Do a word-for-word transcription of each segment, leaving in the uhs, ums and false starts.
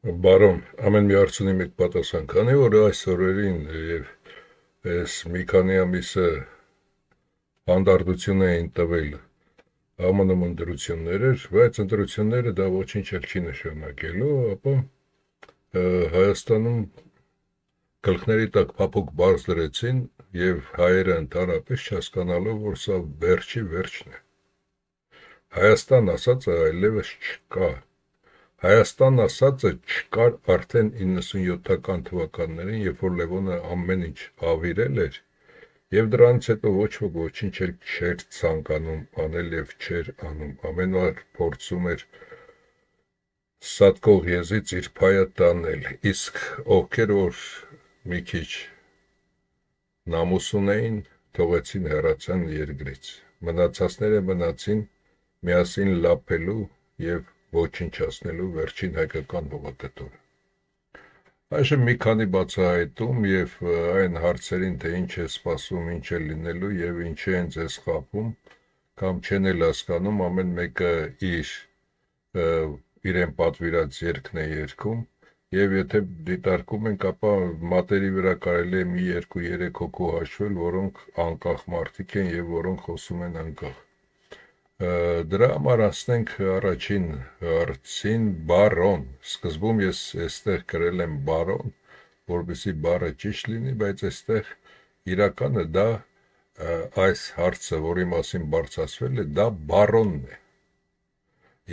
Բարոն, ամեն մի հարցունի մեկ պատասխան, քանի որ այս օրերին եւ այս մի քանի ամիսը հանդարտություն էին տվել Է Մը Նը ընտրություններ էր, բայց ընտրությունները դա ոչինչ էլ չի նշանակելու, ապա Հայաստանում գլխների տակ փափուկ բարձ դրեցին եւ հայերը ընդհանրապես չհասկանալով, որ սա վերջի վերջն է։ Հայաստան ասածը այլևս չկա։ Հայաստան ասածը չկար արդեն իննսունյոթական թվականներին, երբ որ Լևոնը ամեն ինչ ավիրել էր, եւ դրանից հետո ոչ ոք ոչինչ էլ չէր ցանկանում անել եւ չէր անում։ Ամեն օր փորձում էր սատկող եզից իր փայը տանել, իսկ ովքեր որ մի քիչ նամուս ունեին, թողեցին հեռացան երկրից։ Մնացածները մնացին միասին լափելու եւ ոչնչացնելու վերջին հայկական հողակտորը։ Այժմ մի քանի բացահայտում եւ այն հարցերին, թե ինչ է սպասվում, ինչ է լինելու եւ ինչի են ձեզ խափում, կամ չեն էլ հասկանում, ամեն մեկը իր իրեն պատվիրած երգն է երգում, եւ եթե դիտարկում ենք, ապա մատերի վրա կարելի է մի երկու երեք հոգու հաշվել, որոնք անկախ մարդիկ են եւ որոնք խոսում են անկախ։ Դրա համար ասենք առաջին հարցին բարոն։ Սկզբում ես այստեղ գրել եմ բարոն, որովհետեւ բառը ճիշտ լինի, բայց այստեղ իրականը դա այս հարցը, որի մասին բարձրացվել է, դա բարոնն է։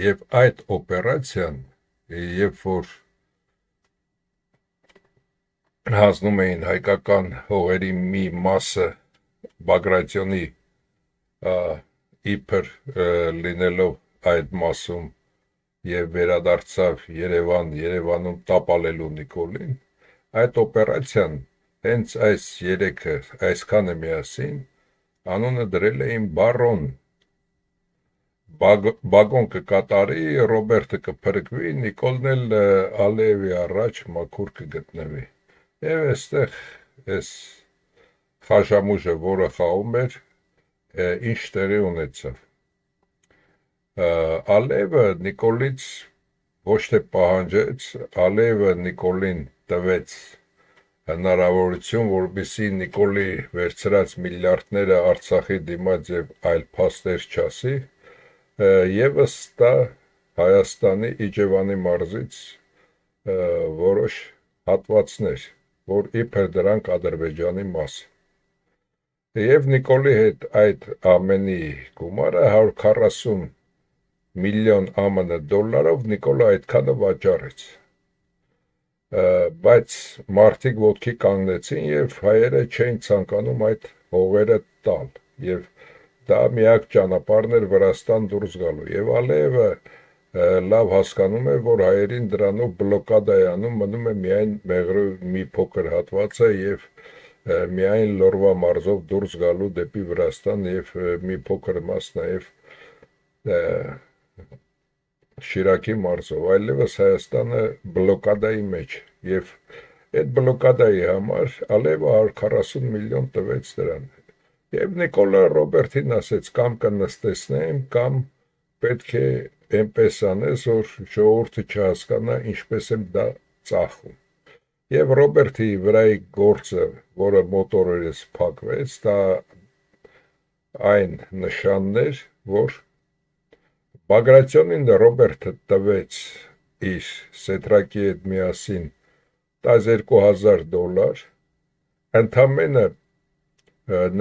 Եվ այդ օպերացիան, երբ որ հանձնում էին հայկական հողերի մի մասը Բագրատյոնի իբր լինելով այդ մասում եւ վերադարձավ Երևան, Երևանում տապալելու Նիկոլին, այդ օպերացիան հենց այս երեքը, այսքանը միասին անունը դրել էին բարոն։ Բագոն կկատարի, Ռոբերտը կփրկվի, Նիկոլն էլ Ալիևի առաջ մաքուր կգտնվի։ Եվ այստեղ այս խաժամուժը, որը խաղում էր, ինչ տեղի ունեցավ։ Ալիևը Նիկոլից ոչ թե պահանջեց, Ալիևը Նիկոլին տվեց հնարավորություն, որպեսզի Նիկոլի վերցրած միլիարդները Արցախի դիմաց եւ այլ փաստեր չասի, եւս տա Հայաստանի Իջևանի մարզից որոշ հատվածներ, որ իբր դրանք Ադրբեջանի մաս։ Եվ Նիկոլի հետ այդ ամենի գումարը հարյուր քառասուն միլիոն ԱՄՆ դոլարով Նիկոլը այդքանը վաճառեց։ Բայց մարդիկ ոտքի կանգնեցին եւ հայերը չէին ցանկանում այդ հողերը տալ եւ դա միակ ճանապարհն էր Վրաստան դուրս գալու։ Եվ Ալիևը լավ հասկանում է, որ հայերին դրանով բլոկադա է անում, մնում է միայն Մեղրու մի փոքր հատվածը եւ միայն Լորվա մարզով դուրս գալու դեպի Վրաստան եւ մի փոքր մաս նաեւ Շիրակի մարզով, այլևս Հայաստանը բլոկադայի մեջ եւ այդ բլոկադայի համար Ալիևը հարյուր քառասուն միլիոն տվեց դրան։ Եվ Նիկոլը Ռոբերտին ասեց, կամ կնստեցնեմ, կամ պետք է այնպես անես, որ ժողովուրդը չհասկանա ինչպես եմ դա ծախում։ Եվ Ռոբերտի վրայի գործը, որը մոտորերս փակվեց, դա այն նշանն էր, որ Բագրատյոնին Ռոբերտը տվեց իր սետրակի հետ միասին տասներկու հազար դոլար, ընդամենը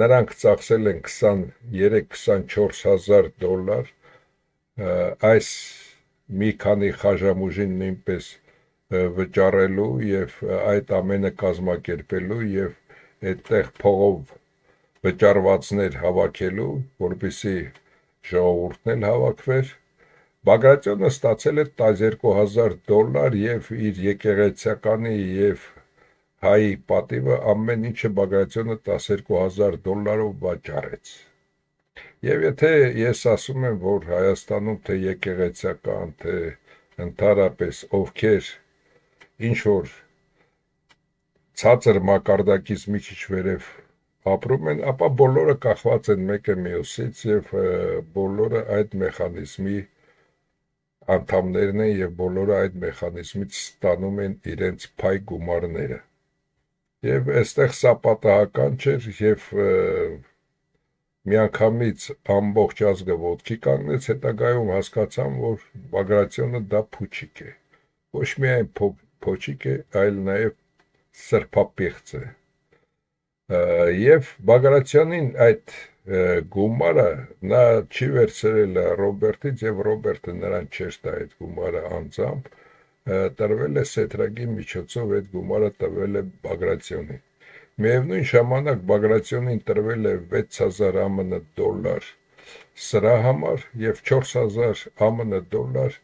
նրանք ծախսել են քսաներեք քսանչորս հազար դոլար, այս մի քանի խաժամուժին նույնպես վճարելու եւ այդ ամենը կազմակերպելու եւ այդտեղ փողով վճարվածներ հավաքելու, որպեսզի ժողովուրդն էլ հավաքվեր։ Բագրատյոնը ստացել է տասներկու հազար դոլար եւ իր եկեղեցականի եւ հայի պատիվը ամեն ինչը Բագրատյոնը տասներկու հազար դոլարով վաճառեց։ Եվ եթե ես ասում եմ, որ Հայաստանում թե եկեղեցական, թե ընդհանրապես ովքեր ինչ որ ցածր մակարդակից մի քիչ վերև ապրում են, ապա բոլորը կախված են մեկը մյուսից եւ բոլորը այդ մեխանիզմի անդամներն են եւ բոլորը այդ մեխանիզմից ստանում են իրենց փայ գումարները։ Եվ այստեղ սա պատահական չէր եւ միանգամից ամբողջ ազգը ոտքի կանգնեց, հետագայում հասկացան, որ Բագրատյանը դա փուչիկ է։ Ոչ միայն փոչիկ է, այլ նաեւ սրբապիղծ է։ Եվ Բագրատյանին այդ գումարը նա չի վերցրել Ռոբերտից եւ Ռոբերտը նրան չէր տա այդ գումարը անձամբ, տրվել է սեթրագի միջոցով այդ գումարը տվել է Բագրատյանին։ Միևնույն ժամանակ Բագրատյանին տրվել է վեց հազար ԱՄՆ դոլար սրա համար եւ չորս հազար ԱՄՆ դոլար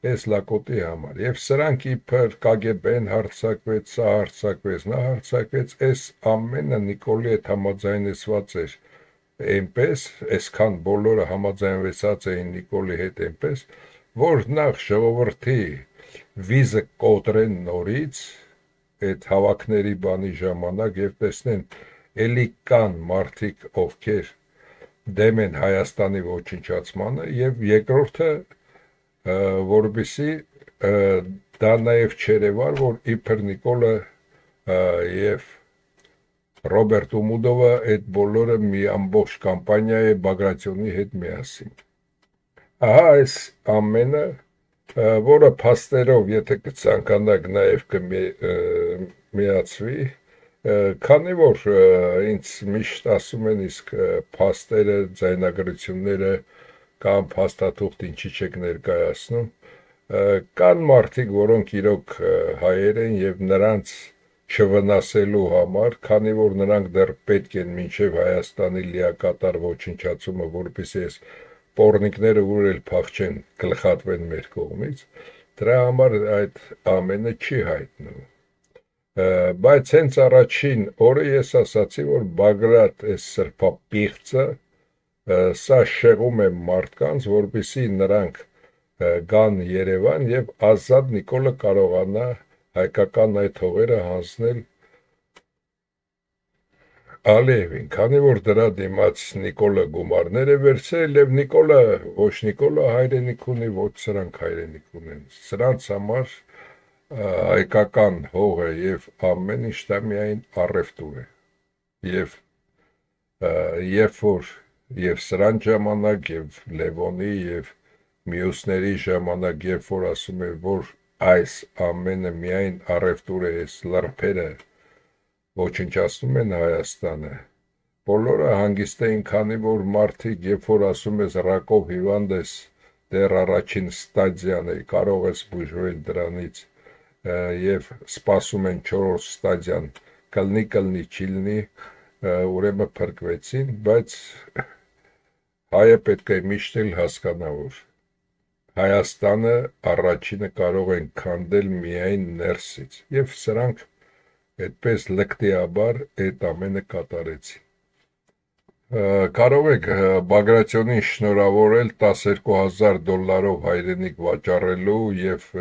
այս լակոտի համար։ Եվ սրանք իբր Կ Գ B-ն հարձակվեց, սա հարձակվեց, նա հարձակվեց, այս ամենը Նիկոլի հետ համաձայնեցված էր այնպես, այսքան բոլորը համաձայնվեցած էին Նիկոլի հետ այնպես, որ նախ ժողովրդի վիզը կոտրեն նորից այդ հավաքների բանի ժամանակ եւ տեսնեն էլի կան մարդիկ, ովքեր դեմ են Հայաստանի ոչնչացմանը, եւ երկրորդը որպեսզի դա նաեւ չերևար, որ իբր Նիկոլը եւ Ռոբերտ Ումուդովը այդ բոլորը մի ամբողջ կամպանիա է Բագրատյանի հետ միասին։ Ահա այս ամենը, որը փաստերով, եթե կցանկանաք, նաև կմիացվի, քանի որ ինձ միշտ ասում են, իսկ փաստերը, ձայնագրությունները կամ փաստաթուղթ ինչի չեք ներկայացնում, կան մարդիկ, որոնք իրոք հայեր են եւ նրանց չվնասելու համար, քանի որ նրանք դեռ պետք են մինչև Հայաստանի լիակատար ոչնչացումը, որպեսզի այս պոռնիկները ուր էլ փախչեն, գլխատվեն մեր կողմից, դրա համար այդ ամենը չի հայտնվում։ Բայց հենց առաջին օրը ես ասացի, որ Բագրատ այս սրբապիղծը սա շեղում է մարդկանց, որպեսզի նրանք գան Երևան եւ ազատ Նիկոլը կարողանա հայկական այդ հողերը հանձնել Ալիևին, քանի որ դրա դիմաց Նիկոլը գումարներ է վերցրել եւ Նիկոլը, ոչ Նիկոլը հայրենիք ունի, ոչ սրանք հայրենիք ունեն։ Սրանց համար հայկական հողը եւ ամեն ինչ դա միայն առևտուր է։ Եվ երբ որ եւ սրան ժամանակ եւ Լևոնի եւ մյուսների ժամանակ, երբ որ ասում է, որ այս ամենը միայն առևտուր է, այս լրբերը ոչնչացնում են Հայաստանը, բոլորը հանգիստ էին, քանի որ մարդիկ, երբ որ ասում ես ռակով հիվանդ ես, դեռ առաջին ստադիան է, կարող ես բուժվել դրանից եւ սպասում են չորրորդ ստադիան, կլնի կլնի չիլնի, ուրեմն փրկվեցին, բայց հայը պետք է միշտ էլ հասկանա, որ Հայաստանը առաջինը կարող են քանդել միայն ներսից եւ սրանք այդպես լկտիաբար այդ ամենը կատարեցին։ Կարող եք Բագրատյանին շնորհավորել տասներկու հազար դոլարով հայրենիք վաճառելու եւ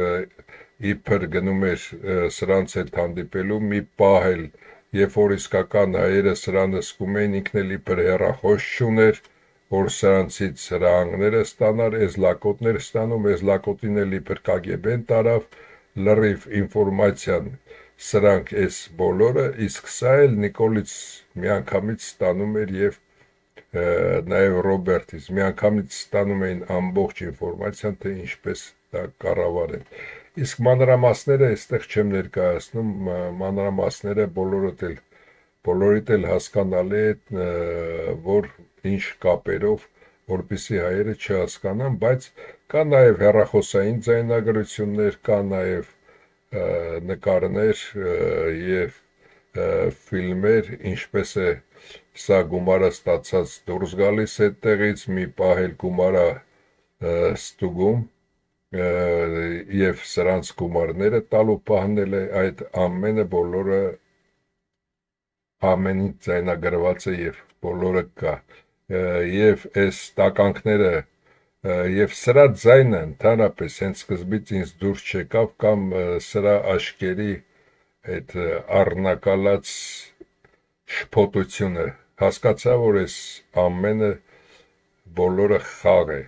իբր գնում էր սրանց հետ հանդիպելու մի պահ էլ, երբ որ իսկական հայերը սրանը զգում էին, ինքն էլ իբր հեռախոս չուներ, որ սրանցից հրահանգները ստանար, այս լակոտներ ստանում, այս լակոտին էլ իբր Կ Գ B-ն տարավ, լրիվ ինֆորմացիան սրանք այս բոլորը, իսկ սա էլ Նիկոլից միանգամից ստանում էր եւ նաեւ Ռոբերտից միանգամից ստանում էին ամբողջ ինֆորմացիան, թե ինչպես դա կառավարեն։ Իսկ մանրամասները այստեղ չեմ ներկայացնում, մանրամասները բոլորդ էլ բոլորիդ էլ հասկանալի է, որ ինչ կապերով, որպեսզի հայերը չհասկանան, բայց կա նաեւ հեռախոսային ձայնագրություններ, կա նաեւ նկարներ եւ ֆիլմեր, ինչպես է սա գումարը ստացած դուրս գալիս այդտեղից, մի պահ էլ գումարը ստուգում եւ սրանց գումարները տալու պահնել է, այդ ամենը բոլորը ամենին ձայնագրված է եւ բոլորը կա եւ այս տականքները եւ սրա ձայնը ընդհանրապես հենց սկզբից ինձ դուրս չեկավ կամ սրա աշկերի այդ առնակալած շփոթությունը, հասկացա, որ այս ամենը բոլորը խաղ է,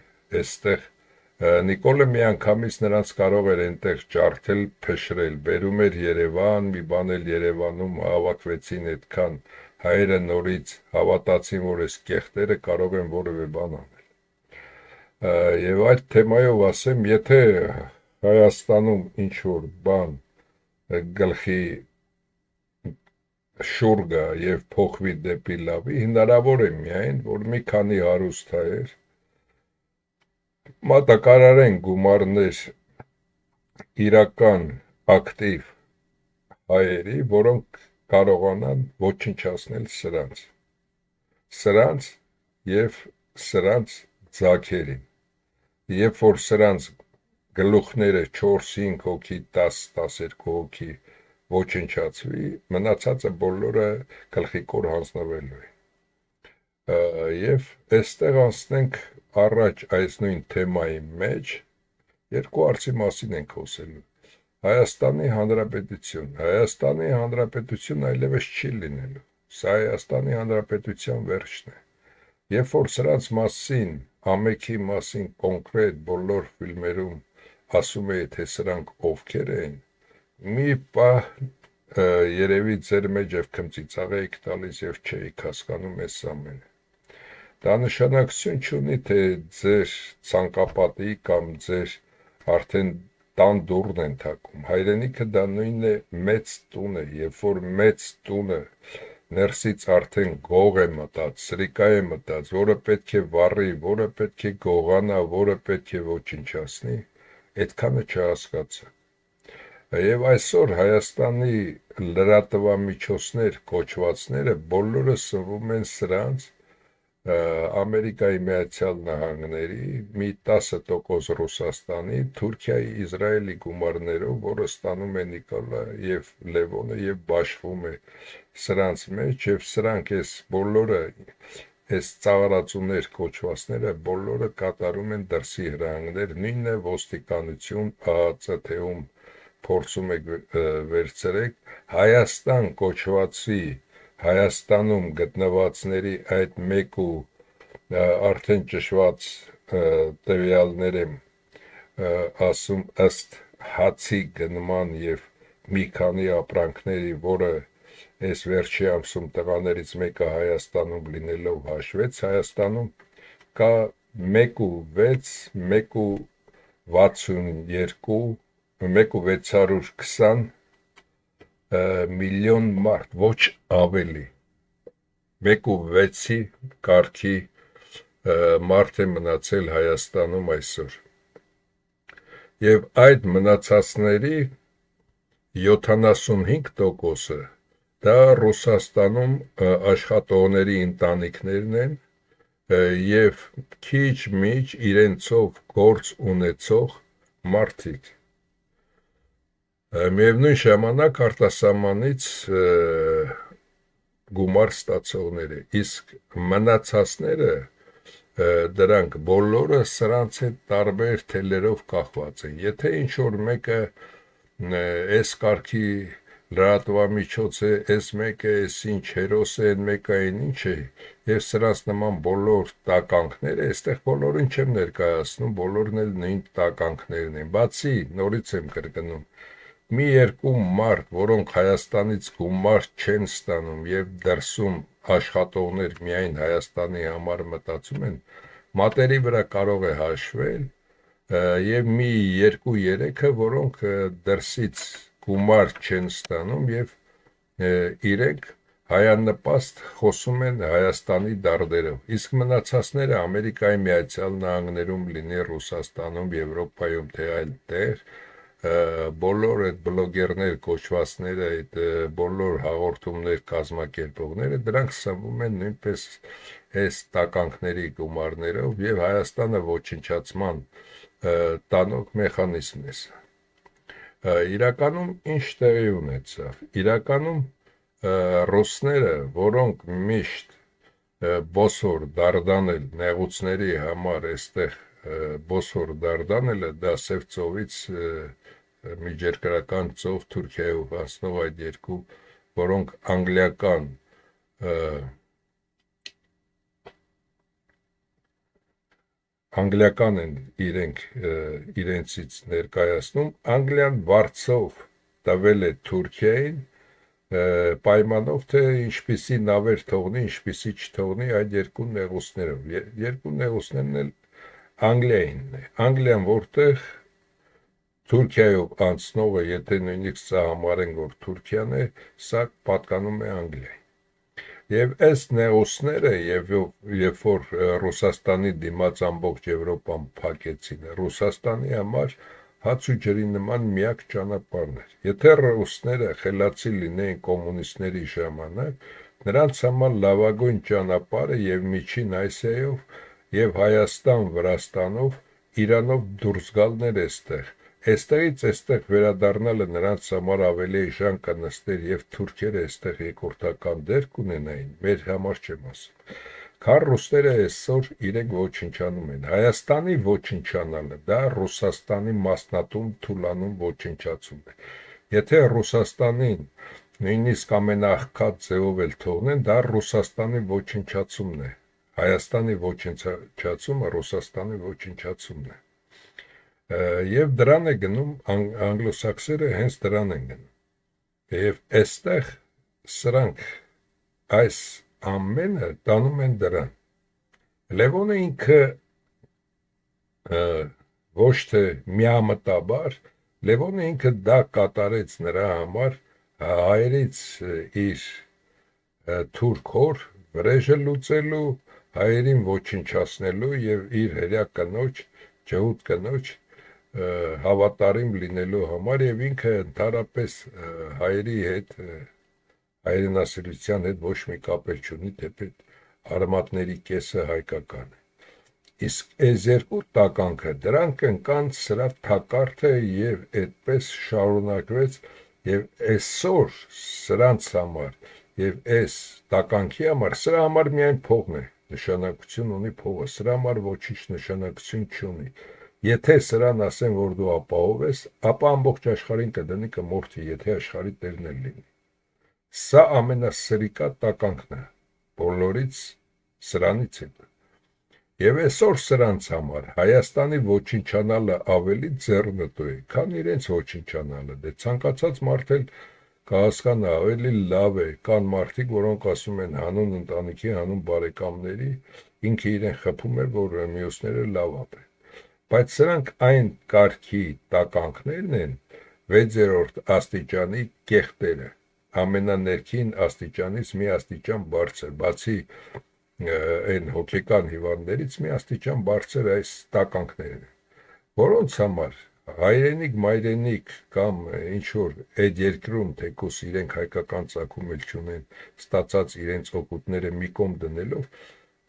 այստեղ Նիկոլը միանգամից նրանց կարող էր այնտեղ ջարդել, փշրել, բերում էր Երևան, մի բան էլ Երևանում հավաքվեցին այդքան հայերը նորից հավատացին, որ այս կեղտերը կարող են որևէ բան անել։ Եվ այդ թեմայով ասեմ, եթե Հայաստանում ինչ-որ բան գլխի շուռ գա եւ փոխվի դեպի լավի, հնարավոր է միայն, որ մի քանի հարուստ հայեր մատակարարեն գումարներ իրական ակտիվ հայերի, որոնք կարողանան ոչնչացնել սրանց, սրանց եւ սրանց ձագերին, երբ որ սրանց գլուխները չորս հինգ հոգի, տաս տասներկու հոգի ոչնչացվի, մնացածը բոլորը գլխիկոր հանձնվելու է։ Եվ այստեղ անցնենք առաջ այս նույն թեմայի մեջ երկու հարցի մասին ենք խոսելու։ Հայաստանի Հանրապետություն, Հայաստանի Հանրապետություն այլևս չի լինելու, սա Հայաստանի Հանրապետության վերջն է։ Երբ որ սրանց մասին, ամեքի մասին կոնկրետ բոլոր ֆիլմերում ասում է, թե սրանք ովքեր են, մի պահ երևի ձեր մեջ եւ քմծիծաղ եք տալիս եւ չէիք հասկանում այս ամենը։ Դա նշանակություն չունի, թե ձեր ցանկապատի կամ ձեր արդեն տան դուռն են թակում։ Հայրենիքը դա նույնն է մեծ տունը, երբ որ մեծ տունը ներսից արդեն գող է մտած, սրիկա է մտած, որը պետք է վառի, որը պետք է գողանա, որը պետք է ոչնչացնի, այդքանը չհասկացա։ Եվ այսօր Հայաստանի լրատվամիջոցներ կոչվածները բոլորը սնվում են սրանց Ամերիկայի Միացյալ Նահանգների, մի տասը տոկոս Ռուսաստանի, Թուրքիայի, Իսրայելի գումարներով, որը ստանում է Նիկոլը եւ Լևոնը եւ բաշխվում է սրանց մեջ, եւ սրանք այս բոլորը, այս ծաղրացուներ կոչվածները բոլորը կատարում են դրսի հրահանգներ, նույնն է ոստիկանություն, ԱԱԾ թեում փորձում եք վերցրեք, Հայաստան կոչվածի Հայաստանում գտնվածների այդ մեկ ու արդեն ճշված տվյալներ եմ ասում ըստ հացի գնման եւ մի քանի ապրանքների, որը այս վերջի ամսում տղաներից մեկը Հայաստանում լինելով հաշվեց, Հայաստանում կա մեկ ու վեց, մեկ ու վաթսունյերկու, մեկ ու վեց հարյուր քսան միլիոն մարդ, ոչ ավելի, մեկ ու վեցի կարգի մարդ է մնացել Հայաստանում այսօր։ Եվ այդ մնացածների յոթանասունհինգ տոկոսը դա Ռուսաստանում աշխատողների ընտանիքներն են եւ քիչ-միչ իրենցով գործ ունեցող մարդիկ։ Միևնույն ժամանակ արտասահմանից գումար ստացողները, իսկ մնացածները դրանք բոլորը սրանց հետ տարբեր թելերով կախված են։ Եթե ինչ-որ մեկը այս կարգի լրատվամիջոց է, այս մեկը այս ինչ հերոս է, այն մեկը այն ինչ է, եւ սրանց նման բոլոր տականքները, այստեղ բոլորին չեմ ներկայացնում, բոլորն էլ նույն տականքներն են։ Բացի, նորից եմ կրկնում, մի երկու մարդ, որոնք Հայաստանից գումար չեն ստանում եւ դրսում աշխատողներ միայն Հայաստանի համար մտածում են, մատերի վրա կարող է հաշվել եւ մի երկու երեքը, որոնք դրսից գումար չեն ստանում եւ իրենք հայանպաստ խոսում են Հայաստանի դարդերով։ Իսկ մնացածները Ամերիկայի Միացյալ Նահանգներում լինի, Ռուսաստանում, Եվրոպայում, թե այլ տեղ, բոլոր այդ բլոգերներ կոչվածները, այդ բոլոր հաղորդումներ կազմակերպողները, դրանք սնվում են նույնպես այս տականքների գումարներով եւ Հայաստանը ոչնչացման տանող մեխանիզմն է սա։ Իրականում ինչ տեղի ունեցավ։ Իրականում ռուսները, որոնք միշտ բոսոր դարդանել նեղուցների համար այստեղ բոսոր դարդանելը, դա Սև ծովից միջերկրական ծով Թուրքիայով հասնող այդ երկու, որոնք անգլիական անգլիական են իրենք իրենցից ներկայացնում, Անգլիան վարձով տվել է Թուրքիային պայմանով, թե ինչպիսի նավեր թողնի, ինչպիսի չթողնի այդ երկու նեղուցներով, երկու նեղուցներն էլ Անգլիայինն է, Անգլիան որտեղ Թուրքիայով անցնողը, եթե նույնիսկ սա համարեն, որ Թուրքիան է, սա պատկանում է Անգլիային։ Եվ ըստ նեղուցները, եւ երբ որ Ռուսաստանի դիմաց ամբողջ Եվրոպան փակեցին, Ռուսաստանի համար հաց ու ջրի նման միակ ճանապարհն էր։ Եթե ռուսները խելացի լինեին կոմունիստների ժամանակ, նրանց համար լավագույն ճանապարհը եւ Միջին Ասիայով եւ Հայաստան, Վրաստանով, Իրանով դուրս գալն էր այստեղ։ Այստեղից այստեղ վերադառնալը նրանց համար ավելի էժան կնստեր եւ թուրքերը այստեղ երկրորդական դեր կունենային, մեր համար չեմ ասում։ Քան ռուսները այսօր իրենք ոչնչանում են։ Հայաստանի ոչնչանալը դա Ռուսաստանի մասնատում, թուլանում ոչնչացում է։ Եթե Ռուսաստանին նույնիսկ ամենաաղքատ ձևով էլ թողնեն, դա Ռուսաստանի ոչնչացումն է։ Հայաստանի ոչնչացումը Ռուսաստանի ոչնչացումն է։ Եվ դրան է գնում անգլոսաքսերը հենց դրան են գնում։ Եվ այստեղ սրանք այս ամենը տանում են դրան։ Լևոնը ինքը ոչ թե միամտաբար, Լևոնը ինքը դա կատարեց նրա համար հայերից իր թուրք հոր վրեժը լուծելու, հայերին ոչնչացնելու եւ իր հրյա կնոջ, ջհուդ կնոջ հավատարիմ լինելու համար եւ ինքը ընդհանրապես հայերի հետ հայրենասիրության հետ ոչ մի կապ չունի, թեպետ արմատների կեսը հայկական է։ Իսկ այս երկու տականքը դրանք ընկան սրա թակարդը եւ այդպես շարունակվեց եւ այսօր սրանց համար եւ այս տականքի համար սրա համար միայն փողն է նշանակություն ունի փողը, սրա համար ոչինչ նշանակություն չունի։ Եթե սրան ասեն, որ դու ապահով ես, ապա ամբողջ աշխարհին կդնի կմորթի, եթե աշխարհի տերն էլ լինի։ Սա ամենասրիկա տականքն է, բոլորից սրանից է։ Եվ այսօր սրանց համար Հայաստանի ոչնչանալը ավելի ձեռնտու է, քան իրենց ոչնչանալը։ Դե ցանկացած մարդ էլ կհասկանա, ավելի լավ է, կան մարդիկ, որոնք ասում են հանուն ընտանիքի, հանուն բարեկամների, ինքը իրեն խփում է, որ մյուսները լավ ապրեն։ Բայց սրանք այն կարգի տականքներն են, վեցերորդ աստիճանի կեղտերը, ամենաներքին աստիճանից մի աստիճան բարձր, բացի այն հոգեկան հիվանդներից մի աստիճան բարձր այս տականքներն են, որոնց համար հայրենիք, մայրենիք կամ ինչ-որ այդ երկրում, թեկուս իրենք հայկական ծագում էլ չունեն, ստացած իրենց օգուտները մի կողմ դնելով,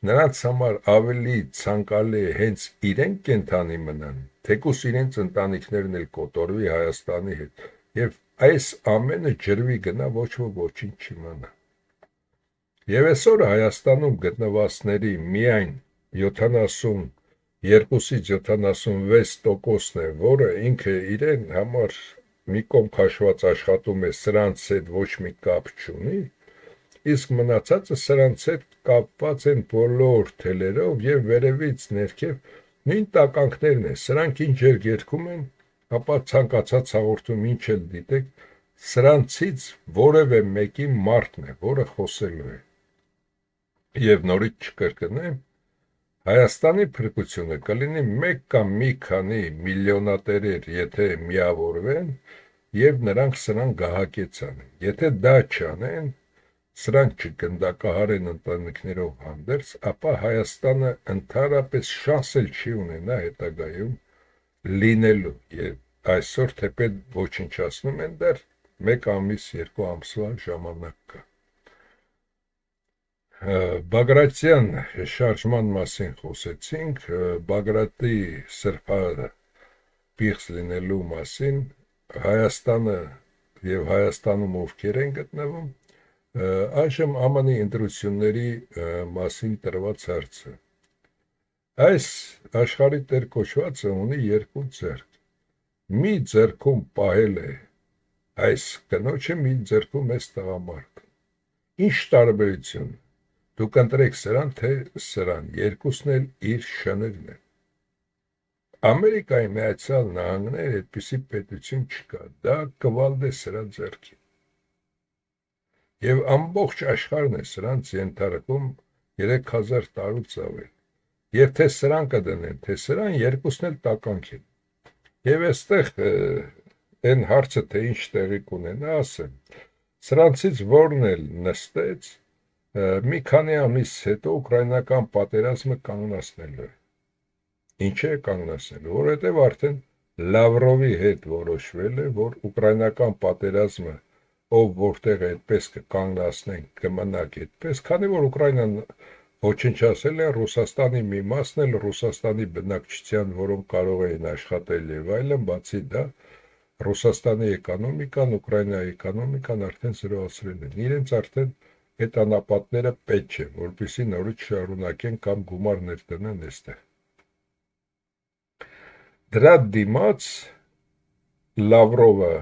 նրանց համար ավելի ցանկալի է հենց իրենք կենթանի մնան, թեկուս իրենց ընտանիքներն էլ կոտորվի Հայաստանի հետ, եւ այս ամենը ջրվի գնա, ոչ ոք ոչինչ չիմանա։ Եվ այսօր Հայաստանում գտնվածների միայն յոթանասունյոթից յոթանասունվեց տոկոսն է, որը ինքը իրեն համար մի կողմ քաշված աշխատում է, սրանց հետ ոչ մի կապ չունի, իսկ մնացածը սրանց հետ կապված են բոլոր թելերով եւ վերևից ներքև նույն տականքներն են, սրանք ինչ էր երգում են, ապա ցանկացած հաղորդում ինչ էլ դիտեք, սրանցից որևէ մեկի մարդն է, որը խոսելու է։ Եվ նորից չկրկնեմ, Հայաստանի փրկությունը կլինի մեկ կամ մի քանի միլիոնատերեր, եթե միավորվեն եւ նրանք սրան գահակեցան։ Եթե դա չանեն, սրանք չգնդակահարեն ընտանիքներով հանդերձ, ապա Հայաստանը ընդհանրապես շանս էլ չի ունենա հետագայում լինելու եւ այսօր թեպետ ոչնչացնում են դեռ մեկ ամիս, երկու ամսվա ժամանակ կա։ Բագրատյան շարժման մասին խոսեցինք, Բագրատի սրբազան պիղծ լինելու մասին, Հայաստանը եւ Հայաստանում ովքեր են գտնվում, այժմ Է Մ Ն-ի ընտրությունների մասին տրված հարցը։ Այս աշխարհի տեր կոչվածը ունի երկու ձեռք։ Մի ձեռքում պահել է այս կնոջը, մի ձեռքում էս տղամարդը։ Ինչ տարբերություն։ Դուք ընտրեք սրան, թե սրան, երկուսն էլ իր շներն են։ Ամերիկայի Միացյալ Նահանգներ այդպիսի պետություն չկա, դա կվալդ է սրա ձեռքին։ Եվ ամբողջ աշխարհն է սրանց ենթարկում երեք հազար տարուց ավել։ Եվ թե սրան կդնեն, թե սրան երկուսն էլ տականք են։ Եվ այստեղ այն հարցը, թե ինչ տեղի կունենա, ասեմ, սրանցից որն էլ նստեց, մի քանի ամիս հետո ուկրաինական պատերազմը կանգնացնելու է։ Ինչ է կանգնացնելու, որովհետև արդեն Լավրովի հետ որոշվել է, որ ուկրաինական պատերազմը ով որտեղ այդպես կկանգնացնեն, կմնաք այդպես, քանի որ Ուկրաինան ոչնչացել է, Ռուսաստանի մի մասն էլ Ռուսաստանի բնակչության, որոնք կարող էին աշխատել եւ այլն, բացի դա Ռուսաստանի էկոնոմիկան, Ուկրաինայի էկոնոմիկան արդեն զրոացրել են։ Իրենց արդեն այդ անապատները պետք չէ, որպեսզի նորից շարունակեն կամ գումարներ տնեն այստեղ։ Դրա դիմաց Լավրովը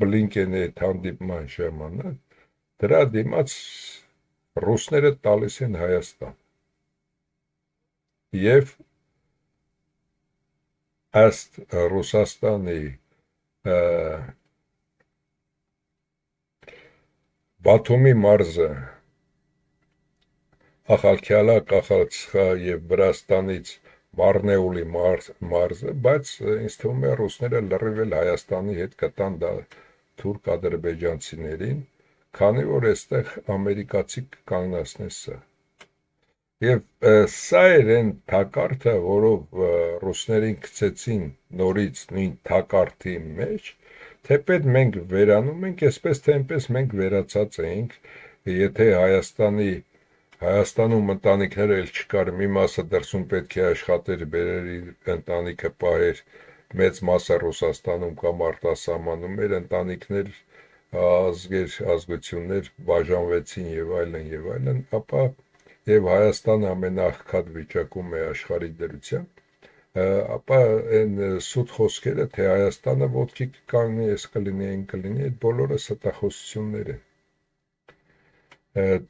Բլինկենի հետ հանդիպման ժամանակ դրա դիմաց ռուսները տալիս են Հայաստան։ Եվ ըստ Ռուսաստանի Բաթումի մարզը, Ախալքյալա, Կախալցխա եւ Վրաստանից Մարնեուլի մարզը, բայց ինձ թվում է ռուսները լրիվ էլ Հայաստանի հետ կտան դա թուրք-ադրբեջանցիներին, քանի որ այստեղ ամերիկացի կանգնացնեն սա։ Եվ սա էր այն թակարդը, որով ռուսներին գցեցին նորից նույն թակարդի մեջ, թեպետ մենք վերանում ենք, այսպես թե այնպես մենք վերացած էինք, եթե Հայաստանի Հայաստանում ընտանիքները էլ չկար, մի մասը դրսում պետք է աշխատեր, բերեր իր ընտանիքը պահեր, մեծ մասը Ռուսաստանում կամ արտասահմանում էր, ընտանիքներ, ազգեր, ազգություններ բաժանվեցին եւ այլն եւ այլն, ապա եւ Հայաստանը ամենաաղքատ վիճակում է աշխարհի դրության, ապա այն սուտ խոսքերը, թե Հայաստանը ոտքի կանգնի, այս կլինի, այն կլինի, այդ բոլորը ստախոսություններ են։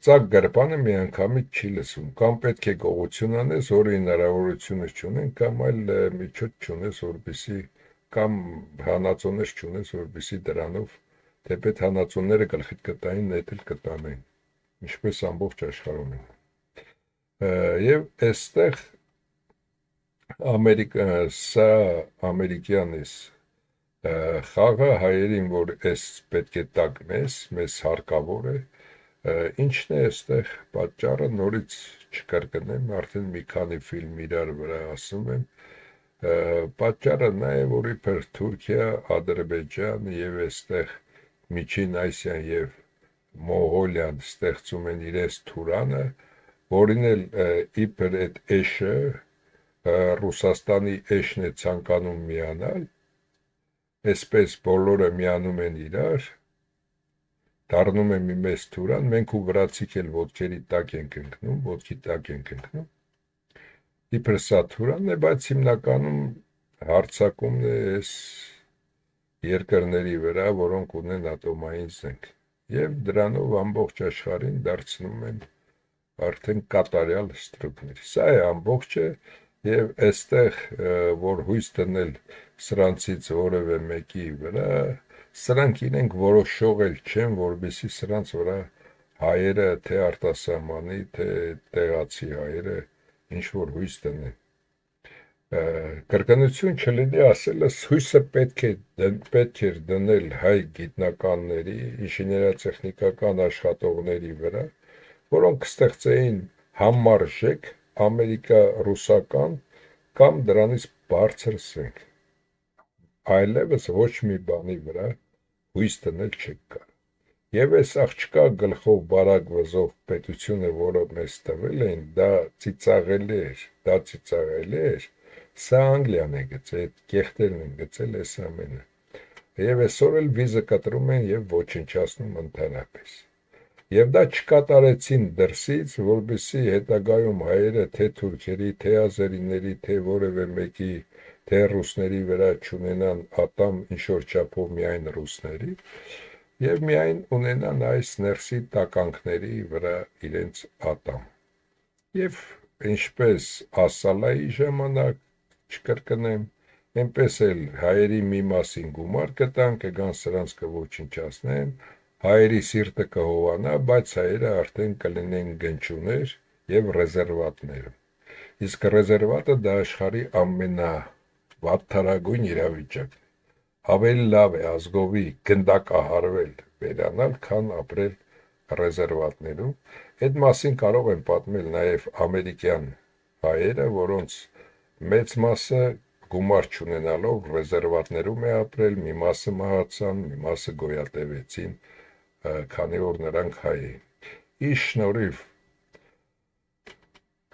Ծակ գրպանը միանգամից չի լսում, կամ պետք է գողություն անես, որի հնարավորությունը չունեն, կամ այլ միջոց չունես, որպեսզի կամ հանածոներ չունես, որպեսզի դրանով թեպետ հանածոները գլխիդ կտային, նետ էլ կտանեն, ինչպես ամբողջ աշխարհում են։ Եվ այստեղ Ամերիկա, սա ամերիկյանից խաղը հայերին, որ այս պետք է տակնես, մեզ հարկավոր է, ինչն է այստեղ պատճառը, նորից չկրկնեմ, արդեն մի քանի ֆիլմ իրար վրա ասում եմ, պատճառը նա է, որ իբր Թուրքիա, Ադրբեջան եւ այստեղ Միջին Ասիան եւ Մոնղոլիան ստեղծում են իրենց թուրանը, որին էլ իբր այդ էշը Ռուսաստանի էշն է ցանկանում միանալ, այսպես բոլորը միանում են իրար, դառնում է մի մեծ թուրան, մենք ու վրացիք էլ ոտքերի տակ ենք ընկնում, ոտքի տակ ենք ընկնում, իբր սա թուրանն է, բայց հիմնականում հարձակումն է այս երկրների վրա, որոնք ունեն ատոմային զենք, եւ դրանով ամբողջ աշխարհին դարձնում են արդեն կատարյալ ստրուկներ։ Սա է ամբողջը, եւ այստեղ որ հույս դնել սրանցից որևէ մեկի վրա, սրանք իրենք որոշող էլ չեն, որովհետեւ սրանց վրա հայերը, թե արտասահմանի, թե տեղացի հայերը ինչ որ հույս դնեն։ Կրկնություն չլինի ասելս, հույսը պետք է պետք էր դնել հայ գիտնականների, ինժեներատեխնիկական աշխատողների վրա, որոնք ստեղծեին համարժեք ամերիկա-ռուսական կամ դրանից բարձր զենք։ Այլևս ոչ մի բանի վրա հույս դնել չեք կարող։ Եվ այս աղջկա գլխով բարակ վզով պետությունը, որը մեզ տվել են, դա ծիծաղելի էր, դա ծիծաղելի էր, սա Անգլիան է գծել, այդ կեղտերն են գծել այս ամենը։ Եվ այսօր էլ վիզը կտրում են եւ ոչնչացնում ընդհանրապես։ Եվ դա չկատարեցին դրսից, որպեսզի հետագայում հայերը թե թուրքերի, թե ազերիների, թե որևէ մեկի, թե ռուսների վրա չունենան ատամ ինչ-որ չափով միայն ռուսների, եւ միայն ունենան այս ներսի տականքների վրա իրենց ատամ։ Եվ ինչպես Ասալայի ժամանակ չկրկնեմ, այնպես էլ հայերի մի մասին գումար կտան, կգան սրանց կոչնչացնեն, հայերի սիրտը կհովանա, բայց հայերը արդեն կլինեն գնչուներ եւ ռեզերվատներ։ Իսկ ռեզերվատը դա աշխարհի ամենավատթարագույն իրավիճակն է։ Ավելի լավ է ազգովի գնդակահարվել, վերանալ, քան ապրել ռեզերվատներում։ Այդ մասին կարող են պատմել նաև ամերիկյան հայերը, որոնց մեծ մասը գումար չունենալով ռեզերվատներում է ապրել, մի մասը մահացան, մի մասը գոյատևեցին, քանի որ նրանք հայ էին։ Ի շնորհիվ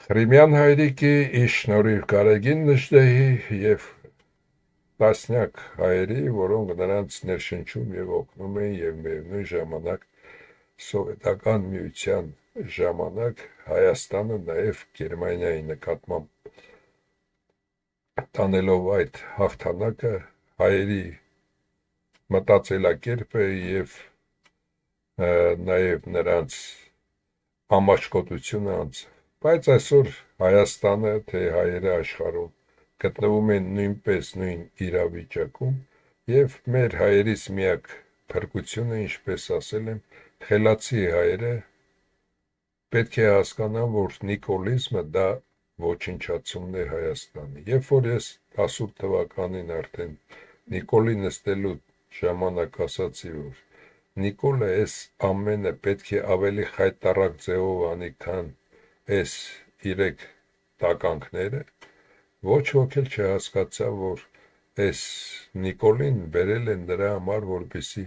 Ղրիմյան հայրիկի, ի շնորհիվ Գարեգին Նժդեհի եւ տասնյակ հայերի, որոնք նրանց ներշնչում եւ օգնում են եւ միևնույն ժամանակ սովետական միության ժամանակ Հայաստանը նաև Գերմանիայի նկատմամբ տանելով այդ հաղթանակը հայերի մտածելակերպը եւ նաև նրանց ամաչկոտությունը անց։ Բայց այսօր Հայաստանը, թե հայերը աշխարհում գտնվում են նույնպես նույն իրավիճակում եւ մեր հայերից միակ փրկությունը, ինչպես ասել եմ, խելացի հայերը պետք է հասկանան, որ նիկոլիզմը դա ոչնչացումն է Հայաստանի։ Երբ որ ես տասութ թվականին արդեն Նիկոլի նստելու ժամանակ ասացի, որ Նիկոլը այս ամենը պետք է ավելի խայտառակ ձևով անի, քան այս իրեք տականքները, ոչ ոք էլ չհասկացավ, որ այս Նիկոլին բերել են դրա համար, որպեսզի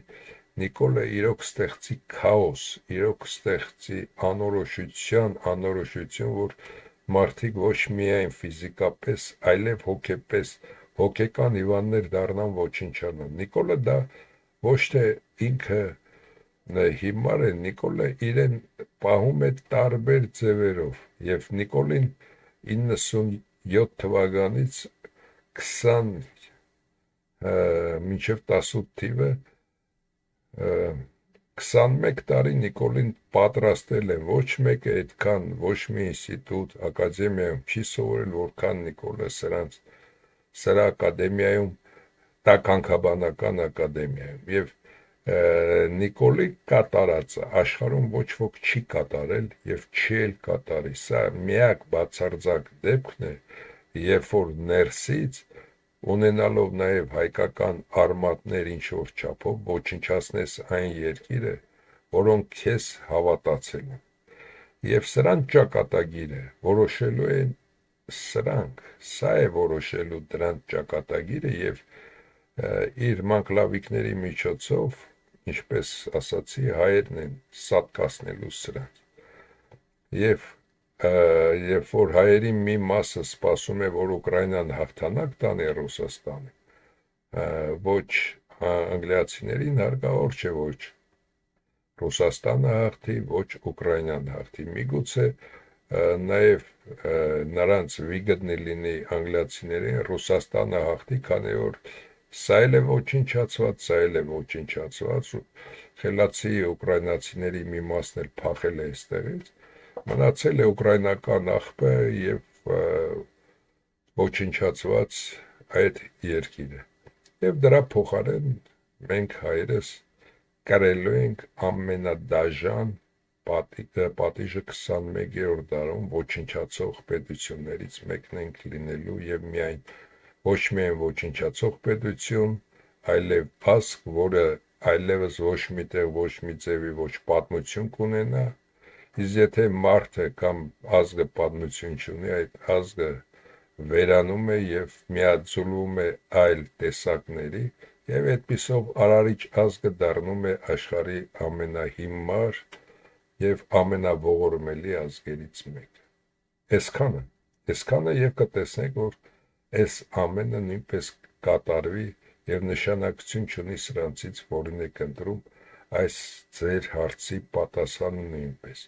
Նիկոլը իրոք ստեղծի քաոս, իրոք ստեղծի անորոշության, անորոշություն, որ մարդիկ ոչ միայն ֆիզիկապես, այլև հոգեպես, հոգեկան հիվանդներ դառնան, ոչնչանան։ Նիկոլը դա ոչ թե ինքը հիմար է, Նիկոլը իրեն պահում է տարբեր ձևերով, եւ Նիկոլին իննսունյոթ թվականից քսան մինչև տասութ թիվը քսանմեկ տարի Նիկոլին պատրաստել են, ոչ մեկը այդքան, ոչ մի ինստիտուտ, ակադեմիայում չի սովորել, որքան Նիկոլը սրանց սրա ակադեմիայում, տականքաբանական ակադեմիայում, եւ Նիկոլի կատարածը աշխարհում ոչ ոք չի կատարել եւ չի էլ կատարի։ Սա միակ բացարձակ դեպքն է, երբ որ ներսից ունենալով նաև հայկական արմատներ ինչ-որ չափով ոչնչացնես այն երկիրը, որոնք քեզ հավատացել են։ Եվ սրանց ճակատագիրը որոշելու են սրանք, սա է որոշելու դրանց ճակատագիրը եւ իր մանկլավիկների միջոցով, ինչպես ասացի, հայերն են սատկացնելու սրանց։ Եվ երբ որ հայերի մի մասը սպասում է, որ Ուկրաինան հաղթանակ տանի Ռուսաստանը, ոչ անգլիացիներին հարկավոր չէ, ոչ Ռուսաստանը հաղթի, ոչ Ուկրաինան հաղթի։ Միգուցե նաև նրանց վիգտնի լինի անգլիացիներին Ռուսաստանը հաղթի, քանի որ սա էլ է ոչնչացված, սա էլ է ոչնչացված, խելացի ուկրաինացիների մի մասն էլ փախել է այստեղից, մնացել է ուկրաինական աղբը եւ ոչնչացված այդ երկիրը։ Եվ դրա փոխարեն մենք հայերս կրելու ենք ամենադաժան պատիժը քսանմեկերորդ դարում ոչնչացող պետություններից մեկն ենք լինելու եւ միայն ոչ միայն ոչնչացող պետություն, այլև ազգ, որը այլևս ոչ միտեղ, ոչ մի ձևի ոչ պատմություն կունենա, իսկ եթե մարդը կամ ազգը պատմություն չունի, այդ ազգը վերանում է եւ միաձուլվում է այլ տեսակների եւ այդպիսով արարիչ ազգը դառնում է աշխարհի ամենահիմար եւ ամենաողորմելի ազգերից մեկը։ Այսքանը, այսքանը եւ կտեսնեք, որ այս ամենը նույնպես կատարվի եւ նշանակություն չունի սրանցից, որին եք ընտրում այս ձեր հարցի պատասխանը նույնպես։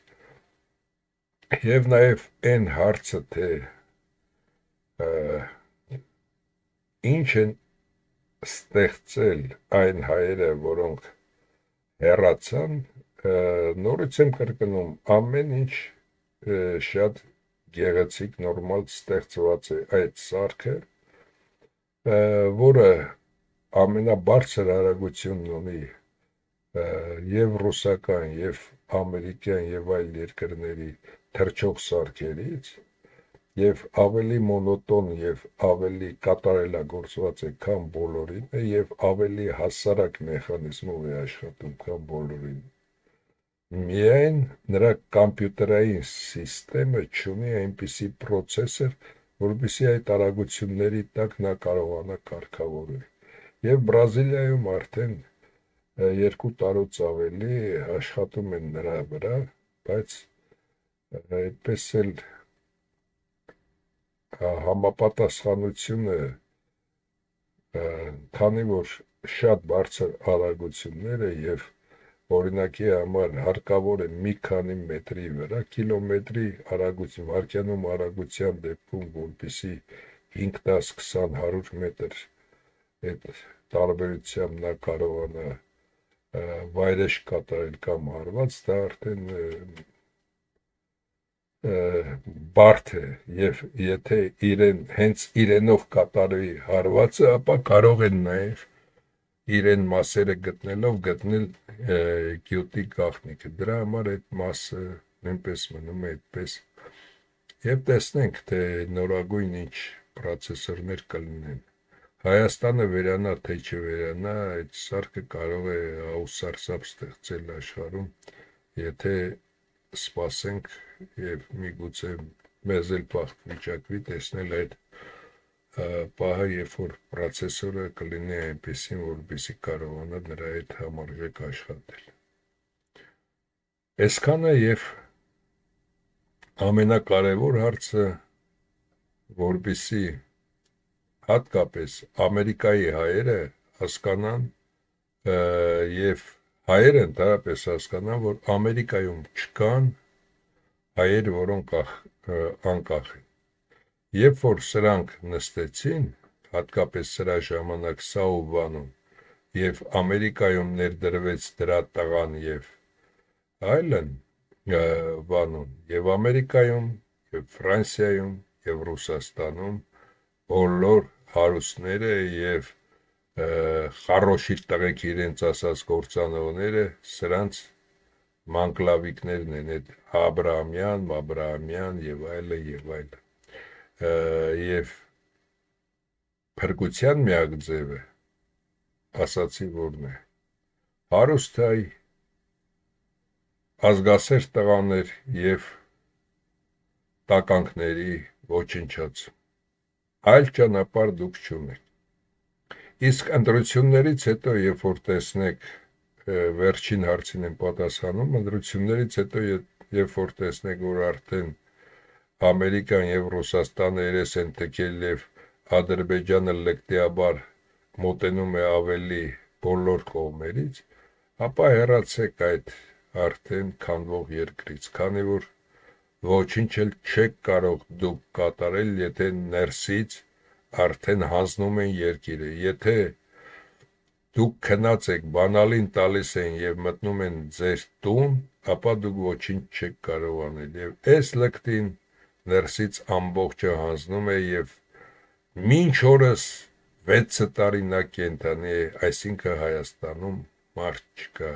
Եվ նաեւ այն հարցը, թե ինչ են ստեղծել այն հայերը, որոնք հեռացան, նորից եմ կրկնում, ամեն ինչ շատ գեղեցիկ նորմալ ստեղծված է այդ սարքը, որը ամենաբարձր արագությունն ունի եւ ռուսական, եւ ամերիկյան, եւ այլ երկրների թռչող սարքերից, եւ ավելի մոնոտոն եւ ավելի կատարելագործված է, քան բոլորին, եւ ավելի հասարակ մեխանիզմով է աշխատում, քան բոլորին։ Միայն նրա կամպյուտերային սիստեմը չունի այնպիսի պրոցեսոր, որպեսզի այդ արագությունների տակ նա կարողանա կարգավորել։ Եվ Բրազիլիայում արդեն երկու տարուց ավելի աշխատում են նրա վրա, բայց այդպես էլ համապատասխանությունը, քանի որ շատ բարձր արագություններ է եւ օրինակի համար հարկավոր է մի քանի մետրի վրա, կիլոմետրի արագություն, վարկյանում արագության դեպքում, որպեսզի հինգ, դես, քսան, հարյուր մետր այդ տարբերությամբ նա կարողանա վայրեջք կատարել կամ հարված, դա արդեն բարդ է, եւ եթե իրեն հենց իրենով կատարվի հարվածը, ապա կարող են նաեւ իրեն մասերը գտնելով գտնել գյուտի գաղտնիքը։ Դրա համար այդ մասը նույնպես մնում է այդպես։ Եվ տեսնենք, թե նորագույն ինչ պրոցեսորներ կլինեն։ Հայաստանը վերանա, թե չվերանա, այդ սարքը կարող է աուսարսափ ստեղծել աշխարհում, եթե սպասենք եւ միգուցե մեզ էլ բախտ վիճակվի տեսնել այդ պահը, երբ որ պրոցեսորը կլինի այնպեսին, որպեսզի կարողանա նրա հետ համարժեք աշխատել։ Այսքանը եւ ամենակարևոր հարցը, որպեսզի հատկապես Ամերիկայի հայերը հասկանան եւ հայերը ընդհանրապես հասկանան, որ Ամերիկայում չկան հայեր, որոնք անկախ են։ Երբ որ սրանք նստեցին, հատկապես սրա ժամանակ Սաուբանում, եւ Ամերիկայում ներդրվեց դրա տղան եւ այլն, բանում, եւ Ամերիկայում, եւ Ֆրանսիայում, եւ Ռուսաստանում բոլոր հարուստները եւ խառոշի տղեկ իրենց ասած գործանողները սրանց մանկլավիկներն են, այդ Աբրահամյան, Աբրահամյան եւ այլը եւ այլը։ Եվ փրկության միակ ձևը ասացի որն է, հարուստ հայ, ազգասեր տղաներ եւ տականքների ոչնչած, այլ ճանապարհ դուք չունեք։ Իսկ ընտրություններից հետո, երբ որ տեսնեք, վերջին հարցին եմ պատասխանում, ընտրություններից հետո, երբ որ տեսնեք, որ արդեն Ամերիկան եւ Ռուսաստանը երես են թքել եւ Ադրբեջանը լկտիաբար մոտենում է ավելի բոլոր կողմերից, ապա հեռացեք այդ արդեն քանդվող երկրից, քանի որ ոչինչ էլ չեք կարող դուք կատարել, եթե ներսից արդեն հանձնում են երկիրը, եթե դուք քնած եք, բանալին տալիս են եւ մտնում են ձեր տուն, ապա դուք ոչինչ չեք կարող անել եւ այս լկտին ներսից ամբողջը հանձնում է եւ մինչ օրս վեց տարի նա կենթանի է, այսինքն Հայաստանում մարդ չկա,